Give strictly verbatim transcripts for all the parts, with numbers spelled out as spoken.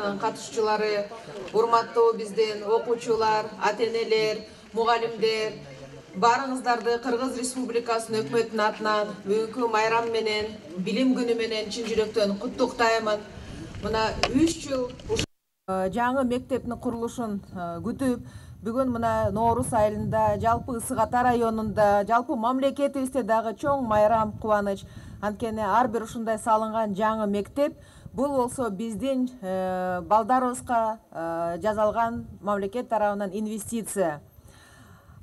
акциянын катышуучулары, урматтуу биздин окуучулар, ата-энелер, мугалимдер, баарыңыздарды Кыргыз Республикасынын өкмөтүнүн атынан бүгүнкү майрам менен, билим күнү менен чын жүрөктөн куттуктаймын. Мына үч жыл жаңы мектептин курулушун күтүп, бүгүн мына Ноорус айылында, жалпы Ысык Ата районунда, жалпы мамлекетибизде дагы чоң майрам, кубаныч. Анткени ар бир ушундай салынган жаңы мектеп бул болсо биздин балдарыбызга жасалган мамлекет тарабынан инвестиция.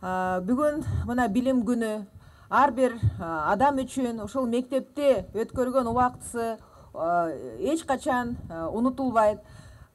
Бүгүн мына билим күнү ар бир адам үчүн ушул мектепте өткөргөн убактысы эч качан унутулбайт.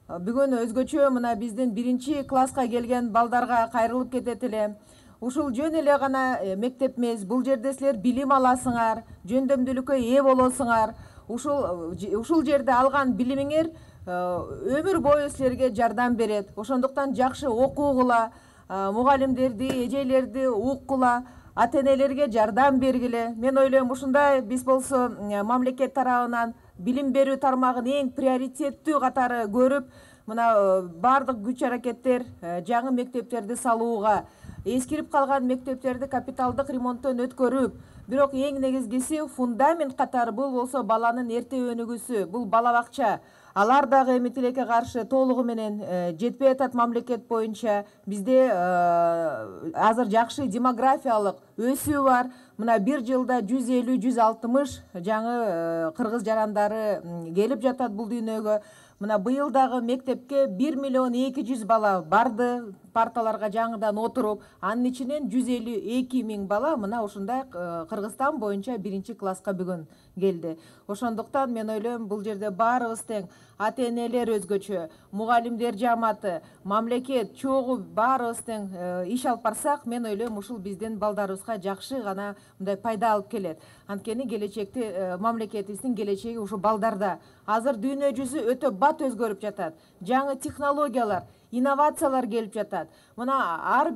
Бүгүн өзгөчө мына биздин биринчи класска келген балдарга кайрылып кетет элем. Ушул жөн эле гана мектеп эмес, бул жерде силер билим аласыңар, жөндөмдүүлүккө ээ болосуңар. Ушул ушул жерде алган билимиңер өмүр бою силерге жардам берет. Ошондуктан жакшы окугула, мугалимдерди, эжелерди уккула, ата-энелерге жардам бергиле. Мен ойлойм, ушундай биз болсо мамлекет тарабынан билим берүү тармагын эң приоритеттүү катары көрүп, мына бардык күч аракеттер жаңы мектептерди салууга, эскирип калган мектептерди капиталдык ремонттон өткөрүп, бирок эң негизгиси фундамент катары бул болсо баланын эрте өнүгүүсү, бул бала бакча. Алар дагы эми тилекке каршы толугу менен жетпей атат мамлекет боюнча. Бизде азыр жакшы демографиялык өсүү бар. Мына бир жылда жүз элүү жүз алтымыш жаңы кыргыз жарандары келип жатат бул дүйнөгө. Мына быйыл дагы мектепке бир миллион эки жүз бала барды, парталарга жаңыдан отуруп, анын ичинен жүз элүү эки миң бала мына ушундай Кыргызстан боюнча биринчи класска бүгүн келди. Ошондуктан мен ойлойм, бул жерде баарыбыз тең, ата-энелер өзгөчө, мугалимдер жамааты, мамлекет чогуу баарыбыз тең иш алып барсак, мен ойлойм, ушул биздин балдарыбызга жакшы гана мындай пайда алып келет. Анткени келечекте мамлекетибиздин келечеги ушу балдарда. Азыр дүйнө жүзү өтө бат өзгөрүп жатат. Жаңы технологиялар, инновациялар келип жатат. Мына ар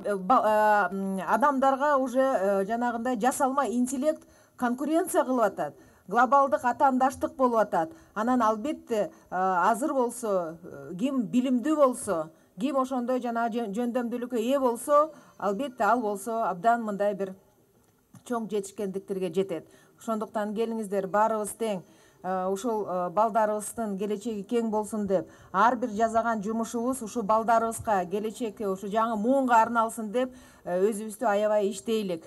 адамдарга уже жанагындай жасалма интеллект конкуренция кылып атат. Глобалдык атаандаштык болуп атат. Анан албетте азыр болсо, ким билимдүү болсо, ким ошондой жана жөндөмдүүлүккө ээ болсо, албетте ал болсо абдан мындай бир чоң жетишкендиктерге жетет. Ошондуктан келиңиздер, баарыбыз тең ушул балдарыбыздын келечеги кең болсун деп, ар бир жасаган жумушубуз ушу балдарыбызга, келечекке, ушу жаңы муунга арналсын деп өзүбүздү аябай иштейлик.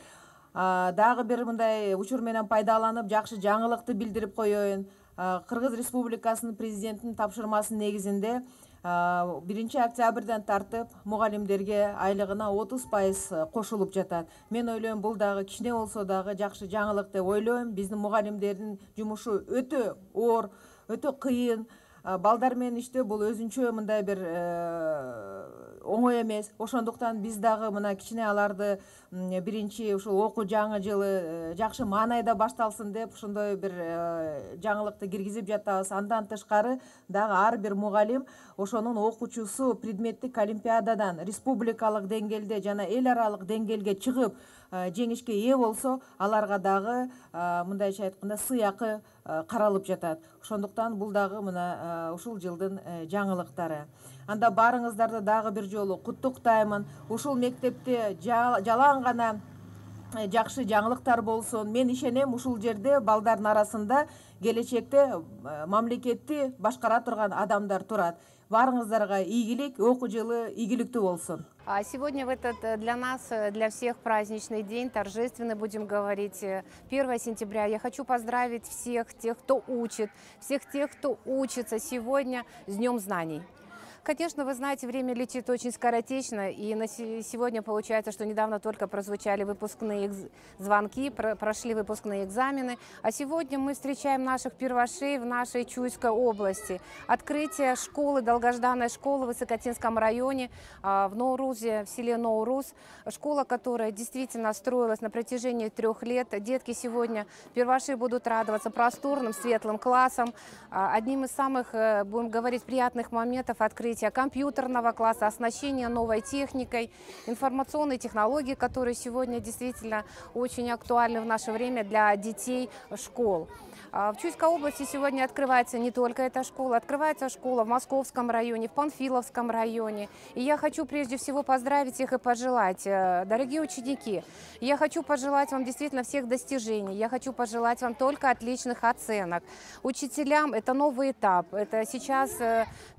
Дагы бир мындай учур менен пайдаланып, жакшы жаңылыкты билдирип коеюн. Кыргыз Республикасынын президентинин тапшырмасынын негизинде биринчи октябрдан тартып мугалимдерге айлыгына отуз пайыз кошулуп жатат. Мен ойлойм, бул дагы кичине болсо дагы жакшы жаңылык деп ойлойм. Биздин мугалимдердин жумушу өтө оор, өтө кыйын. Балдар менен иштөө бул өзүнчө мындай бир оңой эмес. Ошондуктан биз дагы мына кичине аларды биринчи ушул окуу жаңы жылы жакшы маанайда башталсын деп ошондой бир жаңылыкты киргизип жатабыз. Андан тышкары дагы ар бир мугалим ошонун окуучусу предметтик олимпиададан республикалык деңгээлде жана эл аралык деңгээлге чыгып жеңишке ээ болсо, аларга дагы мындайча айтканда сыйакы каралып жатат. Ошондуктан бул дагы мына ушул жылдын жаңылыктары. Анда баарыңыздарды дагы бир жолу куттуктаймын. Ушул мектепте жалаң гана жакшы жаңылыктар болсун. Мен ишенем, ушул жерде балдардын арасында келечекте мамлекетти башкара турган адамдар турат. Баарыңыздарга ийгилик, окуу жылы ийгиликтүү болсун. Сегодня в этот для нас, для всех праздничный день, торжественный, будем говорить, первое сентября. Я хочу поздравить всех тех, кто учит, всех тех, кто учится сегодня с Днем знаний. Конечно, вы знаете, время летит очень скоротечно, и на сегодня получается, что недавно только прозвучали выпускные звонки, прошли выпускные экзамены, а сегодня мы встречаем наших первошей в нашей Чуйской области. Открытие школы, долгожданной школы в Высокотинском районе, в Ноурузе, в селе Ноурус, школа, которая действительно строилась на протяжении трех лет. Детки сегодня, первоши, будут радоваться просторным, светлым классам. Одним из самых, будем говорить, приятных моментов открытия открытия компьютерного класса, оснащения новой техникой, информационной технологии, которые сегодня действительно очень актуальны в наше время для детей школ. В Чуйской области сегодня открывается не только эта школа, открывается школа в Московском районе, в Панфиловском районе. И я хочу прежде всего поздравить их и пожелать, дорогие ученики, я хочу пожелать вам действительно всех достижений, я хочу пожелать вам только отличных оценок. Учителям это новый этап, это сейчас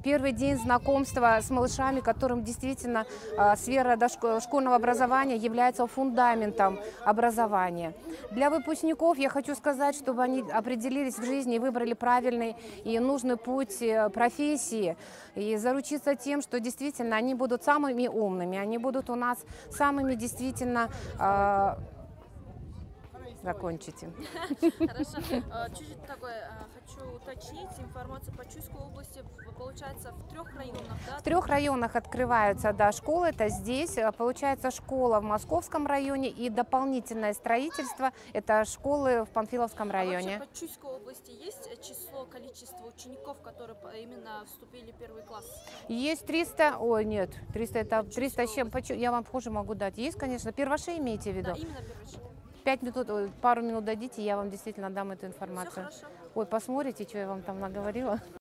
первый день знакомства с малышами, которым действительно сфера дошкольного образования является фундаментом образования. Для выпускников я хочу сказать, чтобы они определились в жизни и выбрали правильный и нужный путь профессии, и заручиться тем, что действительно они будут самыми умными, они будут у нас самыми действительно... Э, закончите. Хорошо. Чуть-чуть такое хочу уточнить. Информация по Чуйской области получается в трех районах, да? В трех районах открываются, да, школы. Это здесь. Получается школа в Московском районе и дополнительное строительство. Это школы в Панфиловском районе. А вообще по Чуйской области есть число, количество учеников, которые именно вступили в первый класс? Есть триста, ой, нет, триста это триста с чем, я вам позже могу дать. Есть, конечно, перваши имеете в виду? Да, именно перваши. Пять минут, пару минут дадите, я вам действительно дам эту информацию. Все хорошо. Ой, посмотрите, что я вам там наговорила.